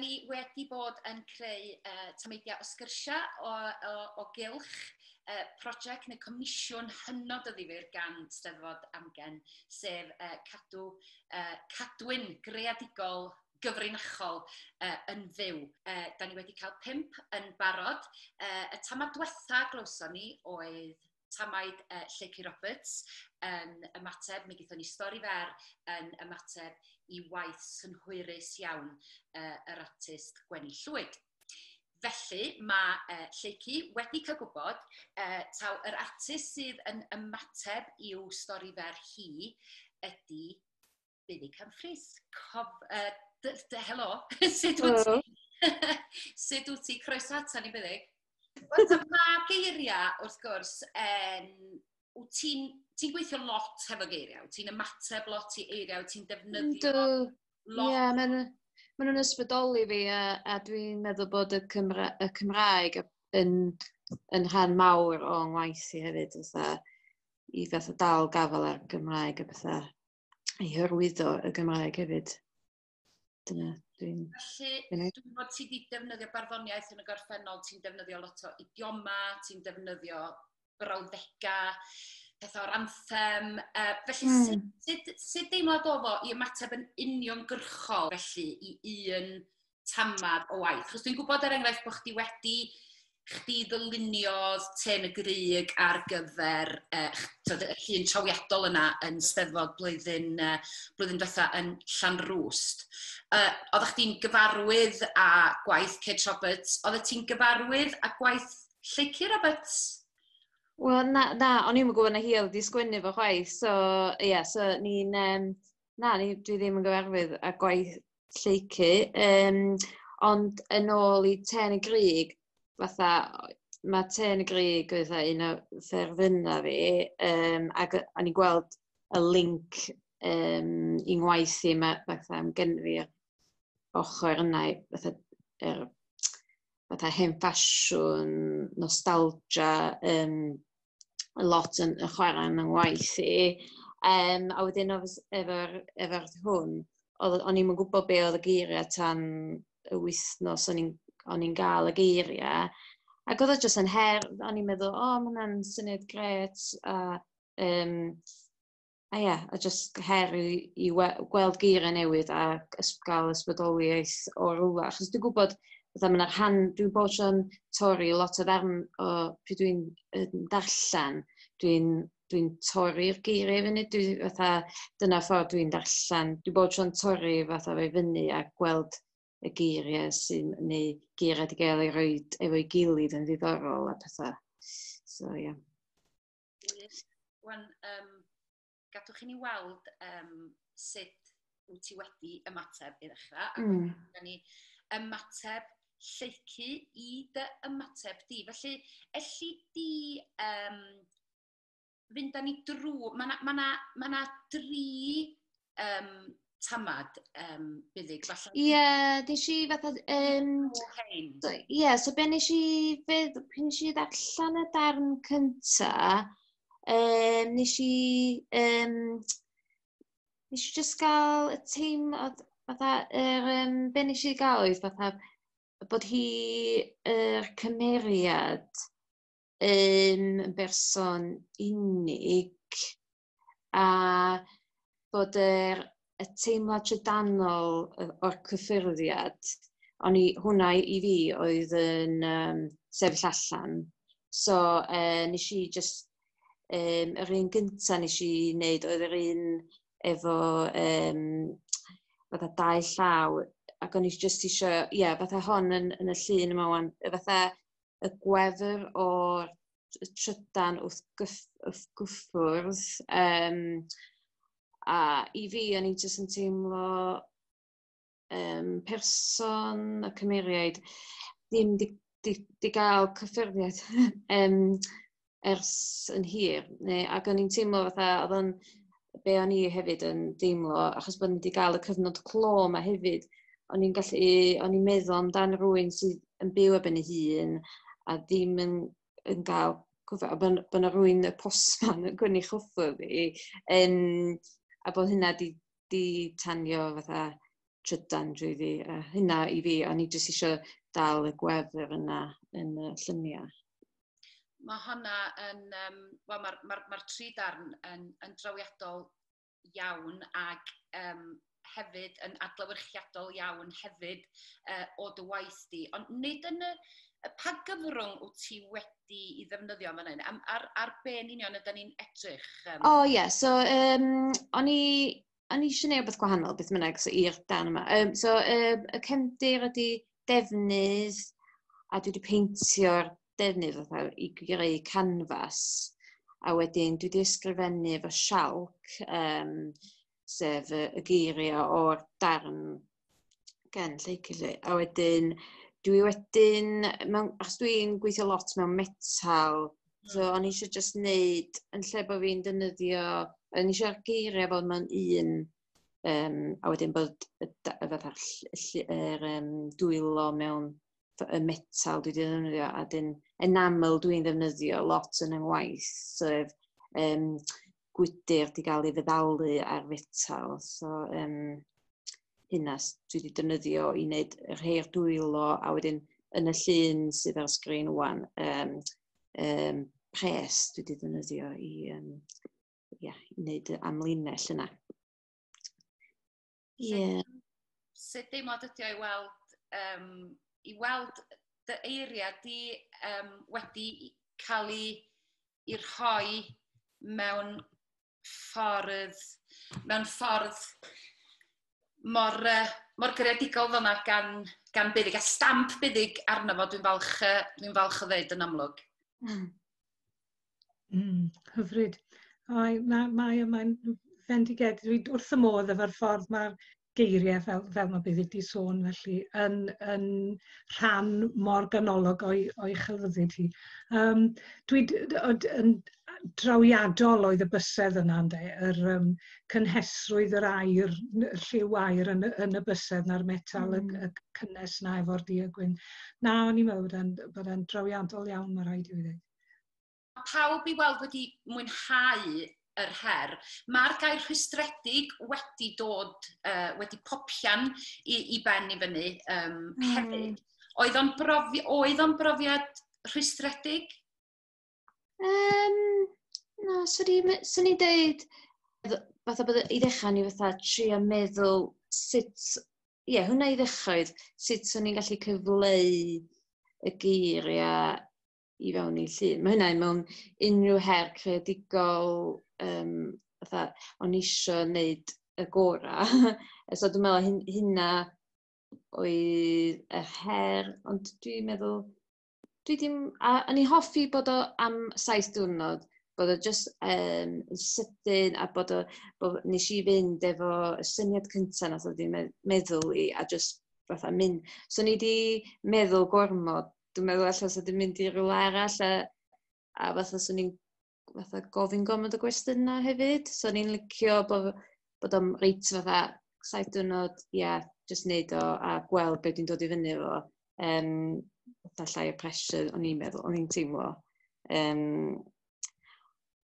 ni wedi bod yn creu tameidiau o sgyrsiau o gylch prosiect neu comisiwn hynod o ddifyr gan Steddfod Amgen, sef cadw cadwyn greadigol gyfrinachol yn fyw. Da ni wedi cael 5 yn barod. Y tamad diwetha glywson ni oedd tamaid Lleucu Roberts yn ymateb, mi gaethon ni stori fer yn ymateb i waith synhwyrus iawn yr artist Gwenny Llwyd. Felly mae Lleucu wedi cael gwybod taw yr artist sydd yn ymateb i'w stori fer hi ydy Buddug Humphreys. Helo, sut wyt ti? Sut wyt ti? Croeso ata ni, Buddug. Wel, mae geiriau, wrth gwrs, wyt ti'n ti gweithio lot hefo geiriau, wyt ti'n ymateb lot i eiriau, wyt ti'n defnyddio lot. Ie, ma nhw'n ysbrydoli fi a dwi'n meddwl bod y Cymraeg yn rhan mawr o'n ngwaith i hefyd, fatha, i fatha dal gafel ar Gymraeg a fatha i hyrwyddo y Gymraeg hefyd. Dyna dwi'n. Felly, dwi'n gwybod ti wedi defnyddio barddoniaeth yn y gorffennol, ti'n defnyddio lot o idioma, ti'n defnyddio brawddega, pethau o'r anthem. Felly, sut deimlad oedd o i ymateb yn uniongyrchol felly i un tamad o waith? Chos dwi'n gwybod, er enghraifft, bod chdi wedi chdi ddyluniodd Trên y Grug ar gyfer t'od, y llun trawiadol yna yn Steddfod blwyddyn diwetha yn Llanrwst. Oeddech chdi'n gyfarwydd â gwaith Kate Roberts? Oeddet ti'n gyfarwydd â gwaith Lleucu Roberts? Wel, na, o'n i'm yn gwybod na hi oedd wedi sgwennu fo chwaith, so, ie, yeah, so ni'n, na, dwi ddim yn gyfarwydd â gwaith Lleucu, ond yn ôl i Trên y Grug, fatha, mae Trên y Grug fatha un o ffefrynnau fi, ac o'n i'n gweld y link i ngwaith i, ma, fatha, am gen fi'r ochr yna, fatha, fatha hen ffasiwn, nostalgia, lot yn chwarae yn ngwaith i. A wedyn efo hwn, o'n i'm yn gwybod be oedd y geiriau tan y wythnos o'n i'n gael y geiriau. Ac oedd o jyst yn her, o'n i'n meddwl, "O, oh, mae hwnna'n syniad grêt." A ie, a jyst her i gweld geiriau newydd a gael ysbrydoliaeth o rywle. Achos dwi'n gwybod, fatha ma' 'na rhan, dwi'n bod tro'n torri lot o ddarn o pryd dwi'n yn darllen, dwi'n torri'r geiriau i fyny. Dwi fatha, dyna ffordd dwi'n darllen. Dwi'n bod tro'n torri fatha fe fyny a gweld y geiriau sy'n, neu geiriau wedi gael eu rhoi efo'i gilydd yn ddiddorol a pethau. So, ie. Yeah. Wych. Wan, gadwch i ni weld sut wyt ti wedi ymateb i ddechrau. Ac mm. ni ymateb Lleucu i dy ymateb di. Felly, elli di fynd â ni drwy. Mae na, ma na, ma na dri tamad Buddug. Falle. Ie, yeah, nes i fatha. Hein. So, ie, yeah, so be nes i fydd, pryd nes i ddarllen y darn cynta, nes i just gael y teimlad, fatha, be nes i gael oedd fatha, bod hi, yr cymeriad, yn berson unig, a bod y teimlad trydanol o'r cyffyrddiad, o'n i, hwnna i fi oedd yn sefyll allan. So, nes i just, yr un gynta nes i wneud oedd yr un efo fatha dau llaw, ac o'n i just eisiau, ie, yeah, fatha hon yn y llun yma wan, fatha y gwefr o'r trydan wrth gyffwrdd, a i fi, o'n i jyst yn teimlo person y cymeriaid ddim di gael cyffyrddiad ers yn hir. Neu, ac o'n i'n teimlo fatha, oedd o'n be o'n i hefyd yn deimlo, achos bod ni wedi cael y cyfnod clo yma hefyd, o'n i'n meddwl amdan rhywun sydd yn byw ar ben ei hun a ddim yn gael cyffwrdd, a bod 'na rhywun, y postman, yn gwynnu chwffwrdd i, a bod hynna di tanio fatha trydan drwyddi. A hynna i fi, o'n i jyst eisiau dal y gwefr yna yn y lluniau. Mae hwnna yn, wel, mae'r ma tri darn yn drawiadol iawn ac hefyd yn adlewyrchiadol iawn hefyd o dy waith di. Ond nid yn y pa gyfrwng wyt ti wedi i ddefnyddio fan hyn? Ar be yn union ydyn ni'n edrych? O ie, yeah, so o'n i eisiau gwneud rhywbeth gwahanol, beth bynnag, so, i'r dan yma. So, y cefndir ydy defnydd, a dwi wedi peintio'r defnydd fatha i greu canfas. A wedyn dwi wedi ysgrifennu efo sialc, sef y geiriau o'r darn gen Lleucu. A wedyn, dwi wedyn, mewn, achos dwi'n gweithio lot mewn metal, so o'n i eisiau just wneud, yn lle bod fi'n defnyddio, o'n i eisiau'r geiriau fod mewn un, a wedyn bod y fatha'r yr dwylo mewn y metal dwi wedi ddefnyddio, a dyn enamel dwi'n ddefnyddio lot yn 'y ngwaith, sef gwydr di gael ei feddalu ar fetal. So, hynna dwi wedi defnyddio i wneud y rhei'r dwylo, a wedyn yn y llun sydd ar sgrin wan, pres dwi wedi defnyddio yeah, i wneud y amlinell yna. Ie. Yeah. Sut deimlad ydy o i weld dy eiriau di wedi cael ei rhoi mewn ffordd mor greadigol fel yna gan Buddug, a stamp Buddug arno fo, dwi'n falch o ddeud yn amlwg. Hyfryd. Mae, mae'n fendigedig. Dwi wrth y modd efo'r ffordd mae'r geiriau, fel mae Buddug di sôn, felly, yn rhan mor ganolog o'i chelfyddyd hi. Dwi yn drawiadol oedd y bysedd yna, ynde, yr cynhesrwydd yr aur, lliw aur yn y bysedd na'r metal, y cynnes na efo'r du a gwyn. Na, o'n i'n meddwl bod e'n drawiadol iawn, mae rhaid i fi ddweud. Pawb i weld wedi mwynhau yr her. Mae'r gair "rhwystredig" wedi dod, wedi popian i ben i fyny hefyd. Oedd o'n brofiad rhwystredig? Na, swn i'n deud, fatha bod i ddechrau ni fatha trio meddwl sut, ie, yeah, hwnna i ddechrau oedd, sut swn i'n gallu cyfleu y geiriau i fewn i llun. Mae hynna mewn unrhyw her creadigol, fatha, o'n i isio wneud y gorau. So dwi'n meddwl hynna oedd y her, ond dwi'n meddwl, dwi ddim, a o'n i hoffi bod o am 7 diwrnod, bod o just yn sydyn a bod nes i fynd efo y syniad cyntaf nath o di meddwl i a just fatha mynd. So ni di meddwl gormod, dwi'n meddwl allan sa di mynd i rywle arall a fatha swn i'n fatha gofyn gormod o gwestiynau hefyd. So ni'n licio bod o'n reit fatha 7 diwrnod, ia, yeah, just neud o a gweld beth dwi'n dod i fyny efo. Fatha llai o pressure, o'n i'n meddwl, o'n i'n teimlo.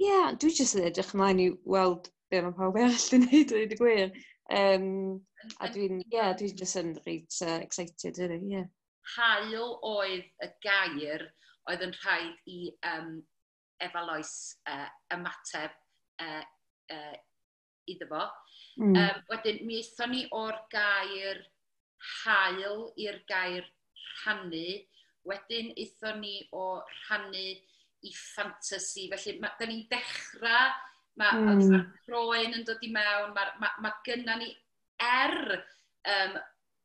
Yeah, dwi jyst yn edrych ymlaen i weld be mae pawb arall yn neud, dweud y gwir. A dwi'n, yeah, dwi'n jyst yn reit excited, really, yeah. Haul oedd y gair oedd yn rhaid i Efa Lois ymateb iddo fo. Wedyn, mi aethon ni o'r gair "haul" i'r gair "rhannu". Wedyn, aethon ni o rhannu i ffantasy. Felly, da ni'n dechrau, mae ma croen yn dod i mewn, mae ma gynna ni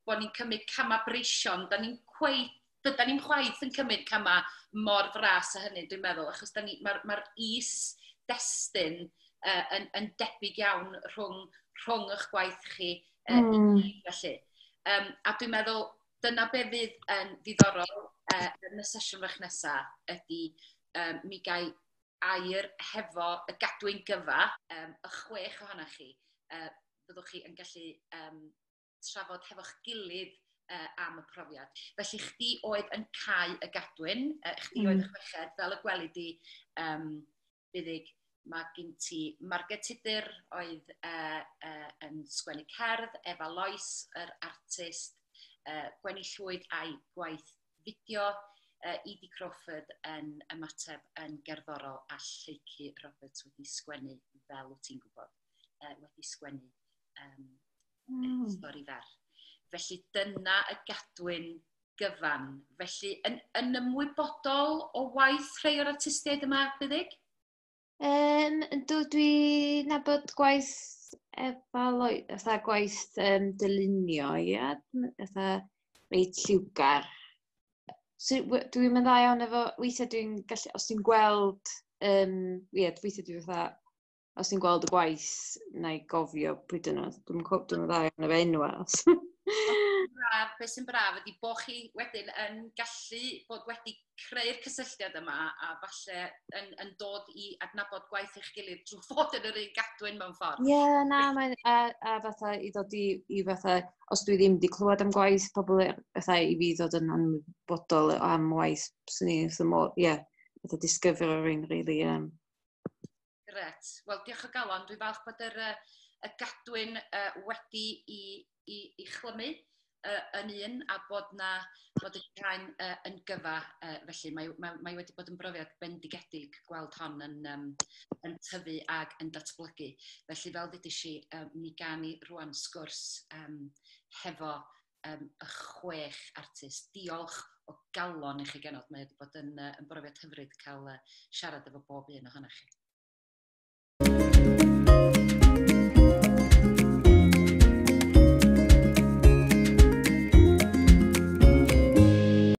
bod ni'n cymryd camau breision, da ni'n cweit, dyda ni'n chwaith yn cymryd camau mor fras a hynny, dwi'n meddwl, achos mae'r ma is-destun yn debyg iawn rhwng eich gwaith chi i gyd, felly. A dwi'n meddwl, dyna be fydd yn ddiddorol yn y sesiwn fach nesaf ydy mi gai air hefo y gadwyn gyfa, y chwech ohonoch chi, byddwch chi yn gallu trafod hefo'ch gilydd am y profiad. Felly chdi oedd yn cau y gadwyn, chdi oedd y chweched, fel y gweli di, Buddug. Mae gen ti Marged Tudur oedd yn sgwennu cerdd, Efa Lois, yr artist, Gwenni Llwyd a'i gwaith fideo, Edie Crawford yn ymateb yn gerddorol a Lleucu Roberts wedi sgwennu, fel wyt ti'n gwybod, wedi sgwennu stori fer. Felly dyna y gadwyn gyfan. Felly yn ymwybodol o waith rhai o'r artistiaid yma, Buddug? Yndw, dwi'n nabod gwaith Efa Lois, fatha gwaith dylunio, ia, fatha reit lliwgar. So, dwi'n mynd dda iawn efo, weithiau dwi'n gallu, os dwi'n gweld, ie, weithiau dwi'n fatha, os dwi'n gweld y gwaith, na i gofio pwy dyn nhw. Dwi'n dwi'n dda iawn efo enwa. Braf, beth sy'n braf ydy bod chi wedyn yn gallu bod wedi creu'r cysylltiad yma a falle yn dod i adnabod gwaith eich gilydd drwy fod yn yr un gadwyn mewn ffordd. Ie, yeah, na, mae'n, a fatha i ddod i fatha, os dwi ddim wedi clywed am gwaith pobl, fatha i fi ddod yn anwybodol am waith, swn i wrth y modd, ie, fatha disgyfro rhywun, really. Gret. Wel, diolch o galon. Dwi'n falch bod y gadwyn wedi i chlymu yn un a bod y gain yn gyfa. Felly mae wedi bod yn brofiad bendigedig gweld hon yn tyfu ag yn datblygu. Felly fel ddudes i, mi gawn ni rwan sgwrs hefo y 6 artist. Diolch o galon i chi genod. Mae wedi bod yn brofiad hyfryd cael siarad efo bob un ohonoch chi.